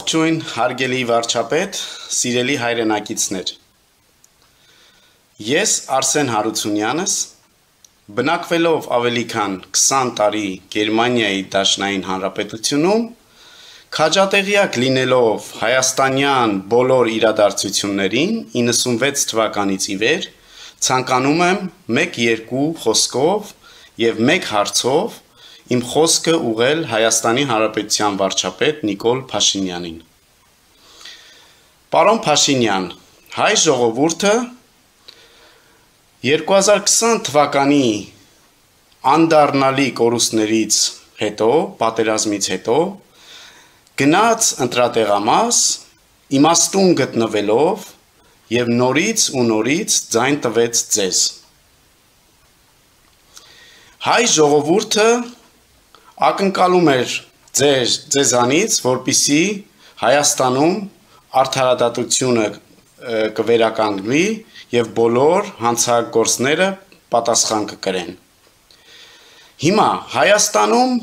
Ողջույն, հարգելի վարչապետ, սիրելի հայրենակիցներ։ Ես Արսեն Հարությունյանս, բնակվելով ավելի քան 20 տարի Գերմանիայի Դաշնային Հանրապետությունում, քաջատեղյակ լինելով հայաստանյան բոլոր իրադարձություններին 96 թվականից ի վեր, ցանկանում եմ 1-2 խոսքով եւ 1 հարցով իմ խոսքը ուղղել Հայաստանի Հանրապետության վարչապետ Նիկոլ Փաշինյանին։ Պարոն Փաշինյան, հայ ժողովուրդը 2020 թվականի անդառնալի կորուստներից հետո, պատերազմից հետո, գնաց ընտրատեղամաս, իմաստուն գտնվելով եւ նորից ու նորից ձայն տվեց ձեզ։ Հայ ժողովուրդը ակնկալում էր ձեզանից, որպեսզի Հայաստանում արդարադատությունը կվերականգնվի եւ բոլոր հանցագործները պատասխան կկրեն։ Հիմա Հայաստանում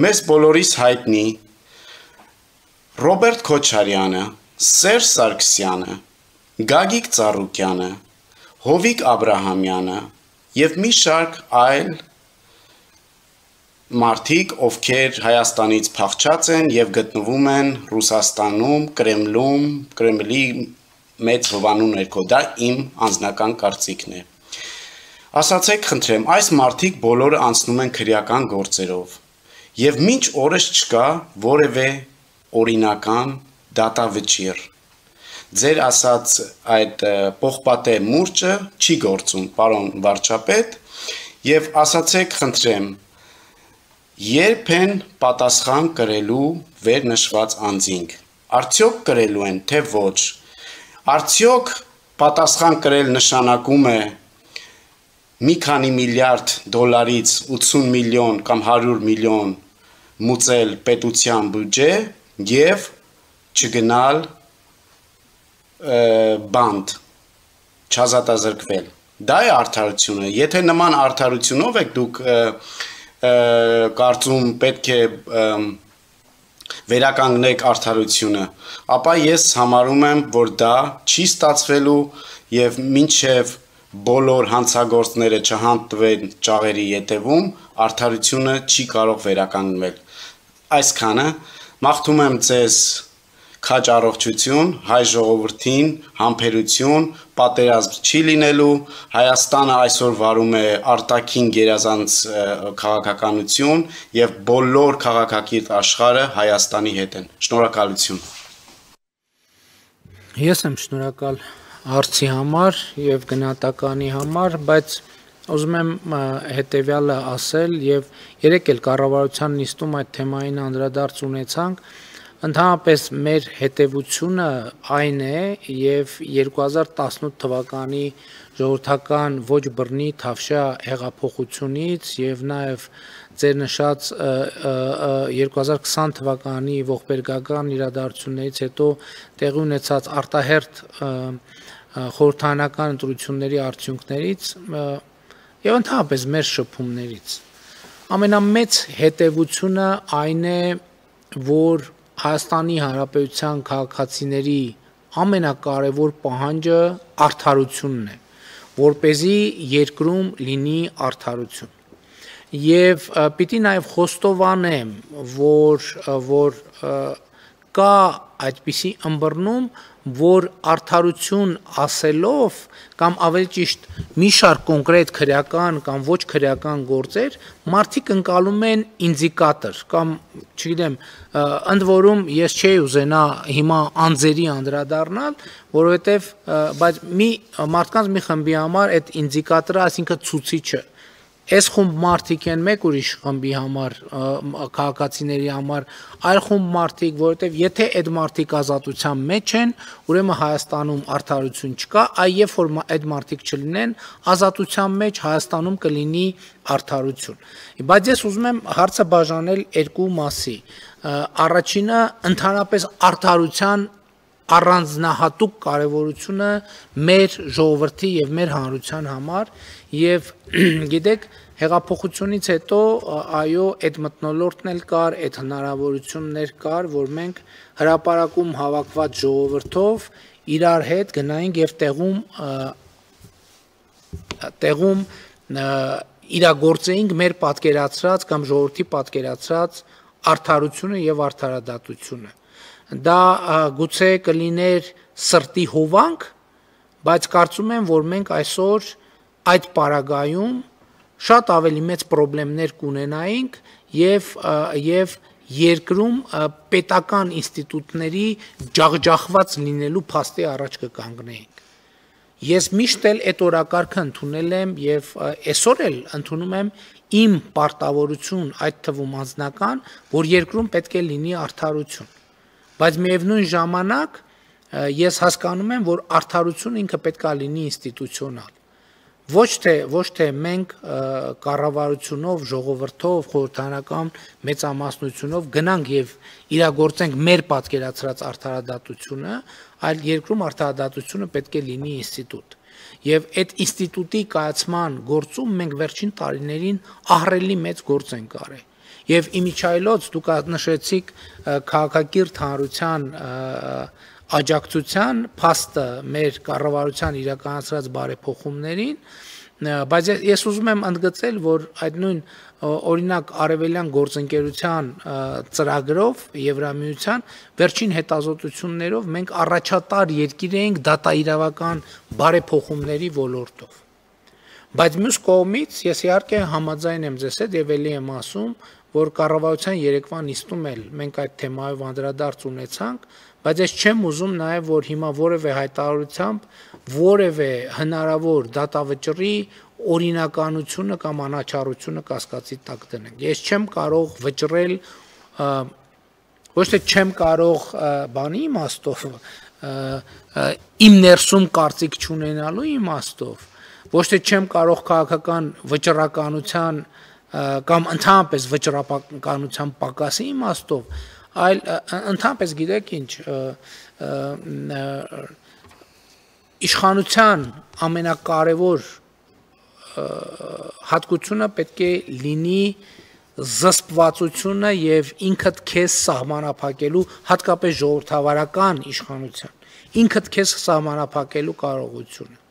մեզ բոլորիս հայտնի Ռոբերտ Քոչարյանը, Սերժ Սարգսյանը, Գագիկ Ծառուկյանը, Հովիկ Աբրահամյանը եւ մի շարք այլ մարդիկ, ովքեր Հայաստանից փախչած են եւ գտնվում են Ռուսաստանում, Կրեմլում, Կրեմլի մեծ հովանու ներքո, դա իմ անձնական կարծիքն է։ Ասացեք, խնդրեմ, այս մարդիկ բոլորը անցնում են քրեական գործերով եւ մինչ օրս չկա որևէ օրինական դատավճիռ։ Ձեր ասած այդ պողպատե մուրճը չի գործում, պարոն վարչապետ, եւ ասացեք, խնդրեմ, երբ են պատասխան կրելու վերնշված անձինք, արդյոք կրելու են, թե ոչ, արդյոք պատասխան կրել նշանակում է մի քանի միլիարդ դոլարից 80 միլիոն կամ 100 միլիոն մուծել պետության բյուջե եւ չգնալ բանդ, չազատազրկվել, դա է արդարությունը, եթե նման արդարությունով եք դուք կարծում պետք է վերականգնեք արդարությունը, ապա ես համարում եմ, որ դա չի ստացվելու եւ մինչեւ բոլոր հանցագործները չհանտվեն ճաղերի ետևում, արդարությունը չի կարող վերականգնվել։ Այսքանը մաղթում եմ ձեզ քաջ առողջություն, հայ ժողովրդին, համբերություն, պատերազմ չի լինելու, Հայաստանը այսօր վարում է արտաքին գերազանց քաղաքականություն եւ բոլոր քաղաքակիրթ աշխարհը Հայաստանի հետ են։ Շնորհակալություն։ Ես եմ շնորհակալ հարցի համար եւ գնահատականի համար, բայց ուզում եմ հետեւյալը ասել եւ երեք էլ կառավարության նիստում այդ թեմային անդրադարձ ունեցանք։ Ընդհանրապես մեր հետևությունը այն է եւ 2018 թվականի ժողովրդական ոչ բռնի թավշյա հեղափոխությունից եւ նաեւ ձեր նշած 2020 թվականի ողբերգական իրադարձություններից հետո տեղի ունեցած արտահերթ խորհրդարանական ընտրությունների արդյունքներից եւ ընդհանրապես մեր շփումներից ամենամեծ հետևությունը այն է, որ Հայաստանի Հանրապետության քաղաքացիների ամենակարևոր պահանջը արդարությունն է, որպեսզի երկրում լինի արդարություն։ Եվ պիտի նաև խոստովանեմ, որ կա այդպիսի ըմբռնում, որ արդարություն ասելով կամ ավելի ճիշտ մի շարք կոնկրետ քրեական կամ ոչ քրեական գործեր մարդիկ ընկալում են ինդիկատոր կամ չգիտեմ ընդ որում ես չէի ուզենա հիմա անձերի անդրադառնալ, որովհետև բայց մի մարդկանց մի խմբի համար այդ ինդիկատորը, այսինքն ցուցիչը Այս խումբ մարդիկ են մեկ ուրիշ խմբի համար, քաղաքացիների համար, այլ խումբ մարդիկ, որովհետև եթե այդ մարդիկ ազատության մեջ են, ուրեմն Հայաստանում արդարություն չկա, այ երբ որ այդ մարդիկ չլինեն, ազատության մեջ Հայաստանում կլինի արդարություն։ Բայց ես ուզում եմ հարցը բաժանել երկու մասի։ Առաջինը ընդհանրապես արդարության առանձնահատուկ կարևորությունը մեր ժողովրդի եւ մեր հանրության համար եւ գիտեք Հեղափոխությունից հետո այո, այդ մթնոլորտն էլ կար, այդ հնարավորություններ կար, որ մենք հրապարակում հավաքված ժողովրդով իրար հետ գնայինք եւ տեղում իրագործեինք մեր պատկերացրած կամ ժողովրդի պատկերացրած արդարությունը եւ արդարադատությունը։ Դա գուցե կլիներ սրտի հովանք, բայց կարծում եմ, որ մենք այսօր այդ պարագայում շատ ավելի մեծ խնդիրներ կունենայինք եւ երկրում պետական ինստիտուտների ջախջախված լինելու փաստի առաջ կկանգնեինք։ Ես միշտ էլ այդ օրակարգը ընդունել եմ եւ այսօր էլ ընդունում եմ իմ պարտավորություն, այդ թվում անձնական, որ երկրում պետք է լինի արդարություն։ Բայց միևնույն ժամանակ ես հասկանում եմ, որ արդարությունը ինքը պետք է լինի ինստիտուցիոնալ։ Ոչ թե մենք կառավարությունով, ժողովրդով, խորհրդարանական մեծամասնությունով գնանք եւ իրագործենք մեր պատկերացրած արդարադատությունը, այլ երկրում արդարադատությունը պետք է լինի ինստիտուտ։ Եվ այդ ինստիտուտի կայացման գործում մենք վերջին տարիներին ահռելի մեծ գործ ենք արել։ Եվ իմիջայլոց դուք նշեցիք քաղաքակիրթ հանրության աջակցության փաստը մեր կառավարության իրականացրած բարեփոխումներին, բայց ես ուզում եմ ընդգծել, որ այդ նույն օրինակ արևելյան գործընկերության ծրագրով Եվրամիության վերջին հետազոտություններով մենք առաջատար երկիր էինք դատաիրավական բարեփոխումների ոլորտով։ Բայց մյուս կողմից ես իհարկե համաձայն եմ ձեզ հետ եւ ելի եմ ասում, որ կառավարության երեկվա նիստում էլ մենք այդ թեմայով անդրադարձ ունեցանք, բայց ես չեմ ուզում նաև որ հիմա որևէ հայտարարությամբ որևէ հնարավոր դատավճռի օրինականությունը կամ անաչառությունը կասկածի տակ դնենք։ Ես չեմ կարող վճռել ոչ թե չեմ կարող բանի իմաստով իմ ներսում կարծիք չունենալու իմաստով, ոչ թե չեմ կարող քաղաքական վճռականության կամ ընդհանրապես վճռականության պակասի իմաստով, այլ ընդհանրապես գիտեք ինչ, իշխանության ամենակարևոր հատկությունը պետք է լինի զսպվածությունը եւ ինքդ քեզ սահմանափակելու, հատկապես ժողովրդավարական իշխանության, ինքդ քեզ սահմանափակելու կարողությունը։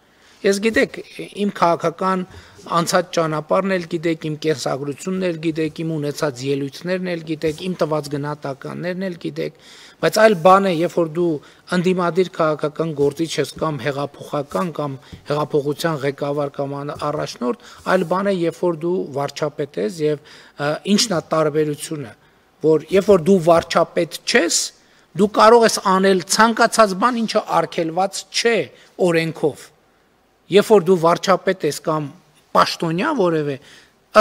Ես գիտեք, իմ քաղաքական անցած ճանապարհն էլ գիտեք, իմ կենսագրությունն էլ գիտեք, իմ ունեցած ելույթներն էլ գիտեք, իմ տված գնահատականներն էլ գիտեք, բայց այլ բան է, երբ որ դու ընդդիմադիր քաղաքական գործիչ ես կամ հեղափոխական կամ հեղափոխության ղեկավար կամ առաջնորդ, այլ բան է, երբ որ դու վարչապետ ես եւ ինչն է տարբերությունը, որ երբ որ դու վարչապետ չես, դու կարող ես անել ցանկացած բան, ինչը արգելված չէ օրենքով։ Երբ որ դու վարչապետ ես կամ պաշտոնյա որևէ,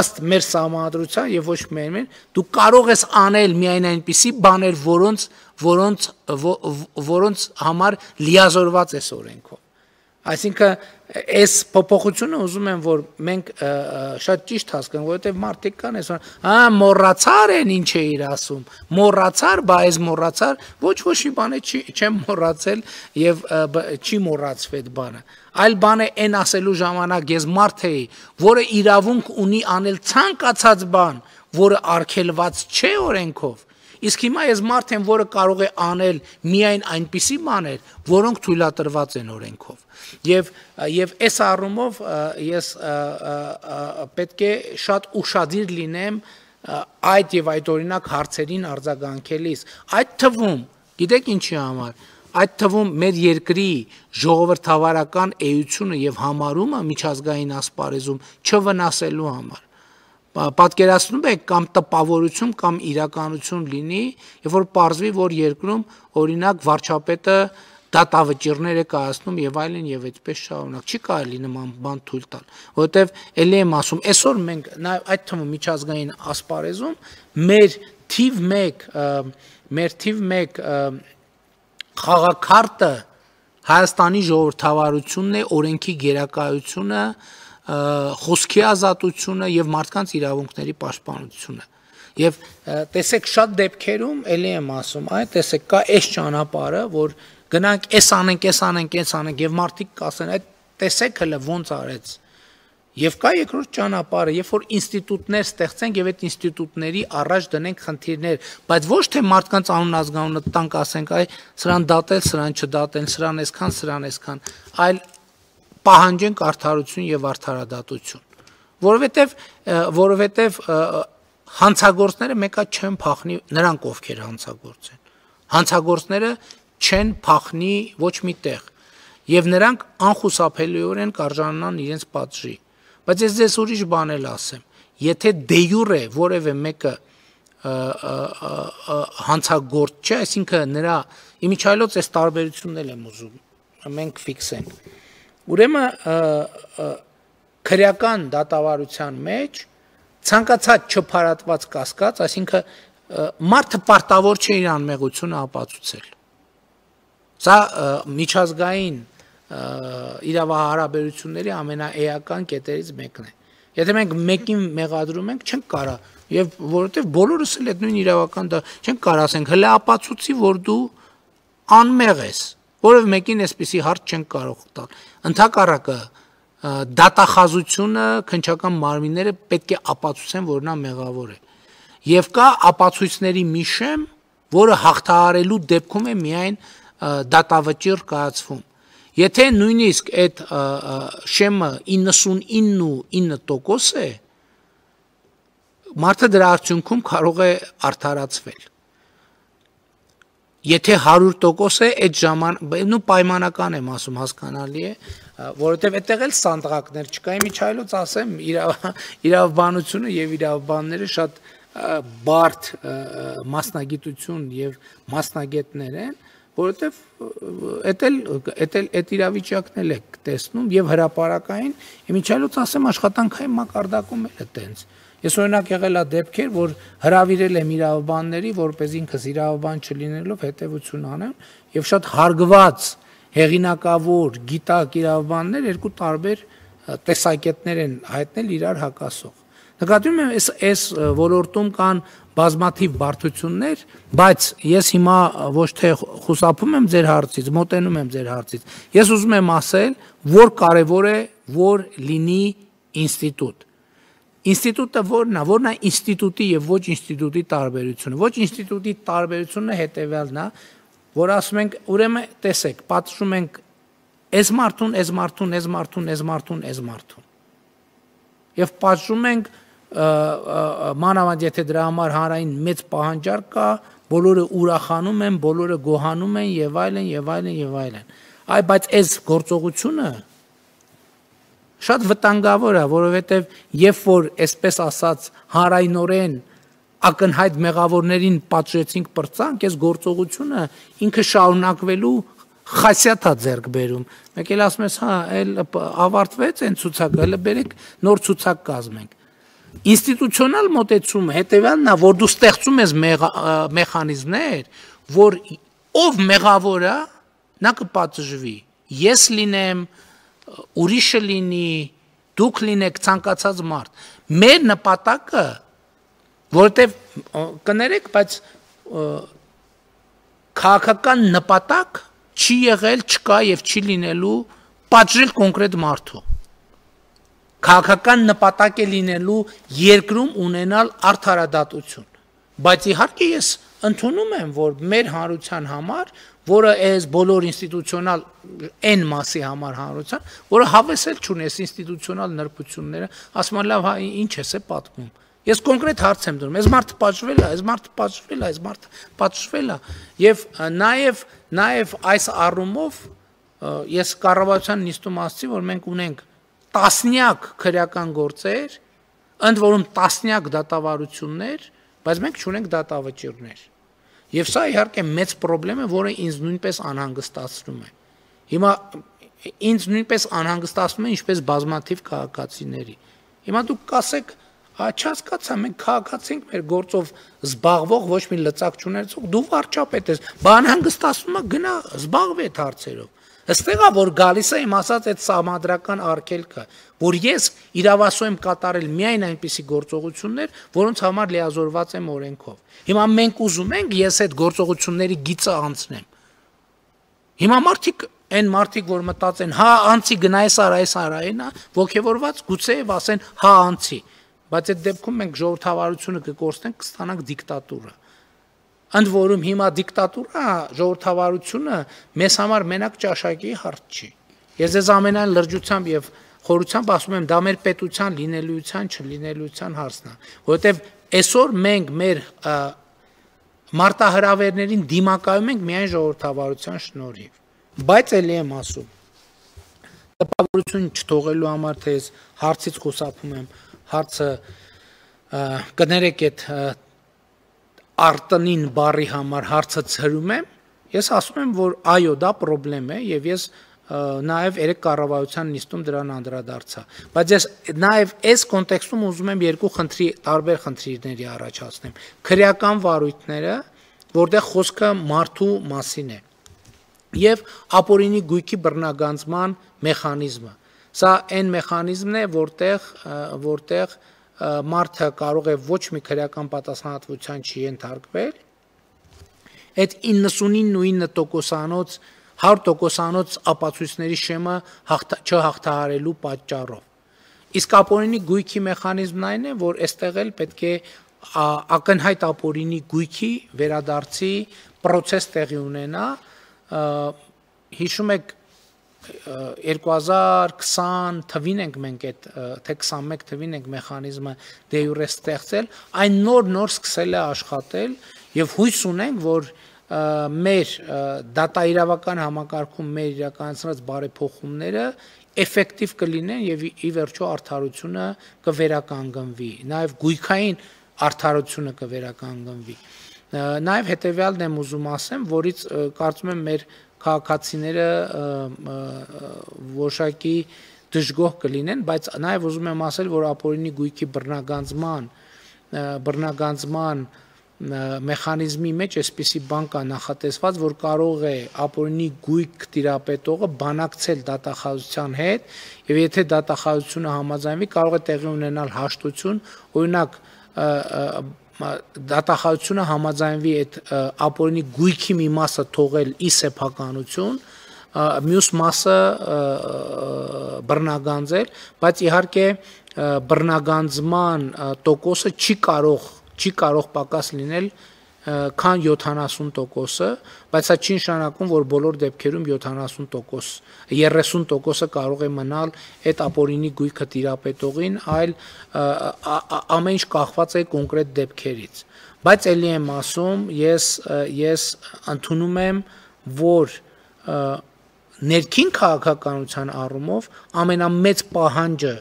ըստ մեր սահմանադրության եւ ոչ մեր, դու կարող ես անել միայն այնպիսի բաներ, որոնց համար լիազորված ես օրենքով։ Այսինքն այս փոփոխությունը ուզում եմ որ մենք շատ ճիշտ հասկանանք, որովհետեւ մարդիկ կան այսօր, մոռացար են ինչ է իր ասում, մոռացար, բա այս մոռացար, ոչ մի բան չեմ մոռացել եւ չի մոռացվել այդ բանը։ Այլ բան է այն ասելու ժամանակ ես մարդ էի, որը իրավունք ունի անել ցանկացած բան, որը արգելված չէ օրենքով։ Իսկ հիմա ես մարդ եմ, որը կարող է անել միայն այնպիսի բաներ, որոնք թույլատրված են օրենքով։ Եվ այս առումով ես պետք է շատ ուշադիր լինեմ այդ եւ այդ օրինակ հարցերին արձագանքելիս։ Այդ թվում, գիտեք ինչի համար, այդ թվում մեր երկրի ժողովրդավարական էությունը եւ համարումը միջազգային ասպարեզում չվնասելու համար։ Պատկերացնում եք կամ տպավորություն կամ իրականություն լինի, երբ որ պարզվի, որ երկրում օրինակ վարչապետը դատավճիռներ է կայացնում եւ այլն եւ այդպես շարունակ։ Չի կարելի նման բան թույլ տալ, որովհետեւ ելի եմ ասում, այսօր մենք նաեւ այդ թվում միջազգային ասպարեզում մեր թիվ 1 խաղաքարտը Հայաստանի ժողովրդավարությունն է, օրենքի գերակայությունը, խոսքի ազատությունը եւ մարդկանց իրավունքների պաշտպանությունը։ Եվ տեսեք շատ դեպքերում էլի եմ ասում, տեսեք կա այս ճանապարհը, որ գնանք, այս անենք եւ մարդիկ կասեն, այդ տեսեք հələ ոնց արեց։ Եվ կա երկրորդ ճանապարհը, երբ որ ինստիտուտներ ստեղծենք եւ այդ ինստիտուտների առաջ դնենք խնդիրներ, բայց ոչ թե մարդկանց անուն ազգանունը տանք ասենք, այ սրան դատել, սրան չդատել, սրան այսքան, այլ պահանջենք արդարություն եւ արդարադատություն, որովհետեւ հանցագործները մեկա չեն փախնի նրանք ովքեր հանցագործ են։ Հանցագործները չեն փախնի ոչ մի տեղ եւ նրանք անխուսափելիորեն կարժանանան իրենց պատժի։ Բայց ես ձեզ ուրիշ բան էլ ասեմ, եթե դե յուրե որևէ մեկը հանցագործ չէ, այսինքն նրա իմիջայլոց այս տարբերությունն էլ եմ ուզում մենք ֆիքսենք։ Ուրեմն քրեական դատավարության մեջ ցանկացած չփարատված կասկած, այսինքն մարդը պարտավոր չէ իր անմեղությունը ապացուցել։ Սա միջազգային իրավահարաբերությունների ամենաէական կետերից մեկն է։ Եթե մենք մեկին մեղադրում ենք, չենք կարա, եւ որովհետեւ բոլորս էլ այդ նույն իրավական դա չենք կարա ասենք, հələ ապացուցի, որ դու անմեղ ես, որովհետեւ մեկին այսպիսի հարց չենք կարող տալ։ Ընդհակառակը դատախազությունը քննչական մարմինները պետք է ապացուցեն, որ նա մեղավոր է։ Եվ կա ապացույցների մի շեմ, որը հաղթահարելու դեպքում է միայն դատավճիռ կայացվում։ Եթե նույնիսկ այդ շեմը 99.9% է, մարդը դրա արդյունքում կարող է արդարացվել։ Եթե 100% է, այդ ժամանակ պայմանական եմ ասում, հասկանալի է, որովհետև այդտեղ էլ սանդղակներ չկա, իմիջայլոց ասեմ, իրավաբանությունը եւ իրավաբանները շատ բարդ մասնագիտություն եւ մասնագետներ են, որովհետև այդ իրավիճակն էլ եք տեսնում եւ հրապարակային, իմիջայլոց ասեմ, աշխատանքային մակարդակում էլ է տենց։ Ես օրինակ եղել է դեպքեր, որ հրավիրել եմ իրավաբանների, որպես ինքս իրավաբան չլինելով հետևություն անեմ, եւ շատ հարգված հեղինակավոր գիտակ իրավաբաններ երկու տարբեր տեսակետներ են հայտնել իրար հակասող։ Նկատում եմ այս ոլորտում կան բազմաթիվ բարդություններ, բայց ես հիմա ոչ թե խուսափում եմ ձեր հարցից, մոտենում եմ ձեր հարցից։ Ես ուզում եմ ասել, որ կարևոր է, որ լինի ինստիտուտ։ Ինստիտուտը որն է ինստիտուտի եւ ոչ ինստիտուտի տարբերությունը։ Ոչ ինստիտուտի տարբերությունը հետեւյալն է, որ ասում ենք, ուրեմն տեսեք, պատժում ենք այս մարդուն։ Եվ պատժում ենք մանավանդ եթե դրա համար հանրային մեծ պահանջարկ կա, բոլորը ուրախանում են, բոլորը գոհանում են եւ այլն։ Այ բայց այս գործողությունը շատ վտանգավոր է, որովհետև երբ որ այսպես ասած հանրայնորեն ակնհայտ մեղավորներին պատժեցինք պրծանք, այս գործողությունը ինքը շարունակվելու խասյաթ է ձեռք բերում։ Մեկ էլ ասում ես, հա, էլ ավարտվեց այն ցուցակը, հələ բերեք նոր ցուցակ կազմենք։ Ինստիտուցիոնալ մոտեցումը հետևյալն է, որ դու ստեղծում ես մեխանիզմներ, որ ով մեղավոր է, նա կպատժվի։ Ես լինեմ, ուրիշը լինի, դուք լինեք ցանկացած մարդ։ Մեր նպատակը, որովհետև կներեք, բայց քաղաքական նպատակ չի եղել, չկա եւ չի լինելու պատժել կոնկրետ մարդու։ Քաղաքական նպատակ է լինելու երկրում ունենալ արդարադատություն։ Բայց իհարկե ես ընդունում եմ, որ մեր հանրության համար, որը այս բոլոր ինստիտուցիոնալ այն մասի համար հանրության, որը հավեսել չունես ինստիտուցիոնալ նրբությունները, ասում եմ, լավ, հա, ինչ ես է պատմում։ Ես կոնկրետ հարց եմ դնում, այս մարդը պատժվել է, եւ նաեւ այս առումով ես կառավարության նիստում ասացի, որ մենք ունենք տասնյակ քրեական գործեր, ընդ որում տասնյակ դատավարություններ, բայց մենք չունենք դատավճիռներ։ Եվ սա իհարկե մեծ խնդրեմ է, որը ինձ նույնպես անհանգստացնում է։ Հիմա ինձ նույնպես անհանգստացնում է ինչպես բազմաթիվ քաղաքացիների։ Հիմա դուք կասեք, չհասկացա, մենք քաղաքացի ենք, մեր գործով զբաղվող ոչ մի լծակ չունեցող, դու վարչապետ ես, անհանգստացնում է, գնա զբաղվի այդ հարցերով։ Այստեղ է որ գալիս է իմ ասած այդ սահմանադրական արգելքը, որ ես իրավասու եմ կատարել միայն այնպիսի գործողություններ, որոնց համար լիազորված եմ օրենքով։ Հիմա մենք ուզում ենք ես այդ գործողությունների գիծը անցնեմ։ Հիմա այն մարդիկ, որ մտածեն, հա անցի գնա այս արա, ոգևորված գուցեև ասեն, հա անցի, բայց այդ դեպքում մենք ժողովրդավարությունը կկորցնենք, կստանանք դիկտատուրա։ Ընդ որում հիմա դիկտատուրա, ժողովրդավարությունը մեզ համար մենակ ճաշակի հարց չի։ Ես ձեզ ամենայն լրջությամբ եւ խորությամբ ասում եմ, դա մեր պետության լինելիության, չլինելիության հարցն է, որովհետեւ այսօր մենք մեր մարտահրավերներին դիմակայում ենք միայն ժողովրդավարության շնորհիվ։ Բայց ելի եմ ասում, տպավորություն չթողելու համար, թե ես հարցից խուսափում եմ, հարցը կներեք այդ արտնին բառի համար հարցը ցրում եմ, ես ասում եմ, որ այո, դա խնդրեմ է եւ ես նաեւ երեք կառավարության նիստում դրան անդրադարձա, բայց ես նաեւ այս կոնտեքստում ուզում եմ երկու տարբեր խնդիրների առաջացնեմ, քրեական վարույթները, որտեղ խոսքը մարդու մասին է, եւ ապօրինի գույքի բռնագանձման մեխանիզմը, սա այն մեխանիզմն է, որտեղ մարդը կարող է ոչ մի քրեական պատասխանատվության չի ենթարկվել, այդ 99.9%-անոց 100%-անոց ապացույցների շեմը չհաղթահարելու պատճառով։ Իսկ ապօրինի գույքի մեխանիզմն այն է, որ այստեղ էլ պետք է ակնհայտ ապօրինի գույքի վերադարձի process տեղի ունենա, հիշում եք 2020 թվին ենք մենք այդ թե 21 թվին ենք մեխանիզմը դե յուրե ստեղծել, այն նոր սկսել է աշխատել եւ հույս ունենք, որ մեր դատաիրավական համակարգում մեր իրականացրած բարեփոխումները էֆեկտիվ կլինեն եւ ի վերջո արդարությունը կվերականգնվի, նաեւ գույքային արդարությունը կվերականգնվի։ Նաեւ հետեւյալն եմ ուզում ասեմ, որից կարծում եմ մեր քաղաքացիները որոշակի դժգոհ կլինեն, բայց նաեւ ուզում եմ ասել, որ ապօրինի գույքի բռնագանձման մեխանիզմի մեջ այսպիսի բան կա նախատեսված, որ կարող է ապօրինի գույք տիրապետողը բանակցել դատախազության հետ, եւ եթե դատախազությունը համաձայնվի, կարող է տեղի ունենալ հաշտություն, օրինակ դատախազությունը համաձայնվի այդ ապօրինի գույքի մի մասը թողել ի սեփականություն, մյուս մասը բռնագանձել, բայց իհարկե բռնագանձման տոկոսը չի կարող պակաս լինել քան 70%-ը, բայց սա չի նշանակում, որ բոլոր դեպքերում 30% կարող է մնալ այդ ապօրինի գույքը տիրապետողին, այլ ամեն ինչ կախված է կոնկրետ դեպքերից։ Բայց ելի եմ ասում, ես ընդունում եմ, որ ներքին քաղաքականության առումով ամենամեծ պահանջը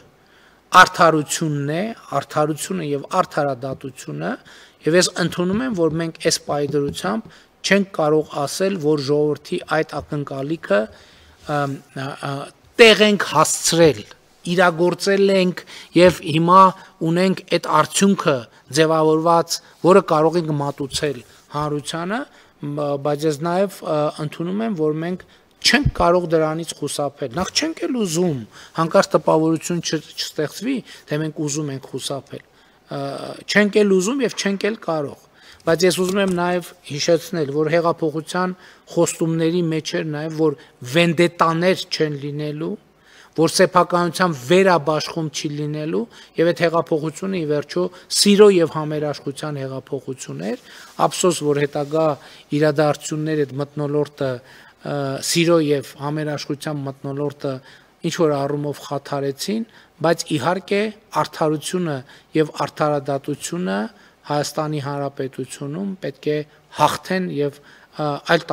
արդարությունը եւ արդարադատությունը, եւ ես ընդունում եմ, որ մենք այս պայդրությամբ չենք կարող ասել, որ ժողովրդի այդ ակնկալիքը տեղ ենք հասցրել, իրագործել ենք եւ հիմա ունենք այդ արդյունքը ձևավորված, որը կարող ենք մատուցել հանրությանը, բայց ես նաեւ ընդունում եմ, որ մենք չենք կարող դրանից խուսափել, նախ չենք էլ ուզում, հանկարծ տպավորություն չստեղծվի, թե մենք ուզում ենք խուսափել, չենք էլ ուզում եւ չենք էլ կարող, բայց ես ուզում եմ նաեւ հիշեցնել, որ հեղափոխության խոստումների մեջ էր նաեւ, որ վենդետաներ չեն լինելու, որ սեփականության վերաբաշխում չի լինելու եւ այդ հեղափոխությունը ի վերջո սիրո եւ համերաշխության հեղափոխություն էր, ափսոս, որ հետագա իրադարձությունները այդ մթնոլորտը սիրո եւ համերաշխության մթնոլորտը ինչ որ առումով խաթարեցին, բայց իհարկե արդարությունը եւ արդարադատությունը Հայաստանի Հանրապետությունում պետք է հաղթեն եւ այլ տարբեր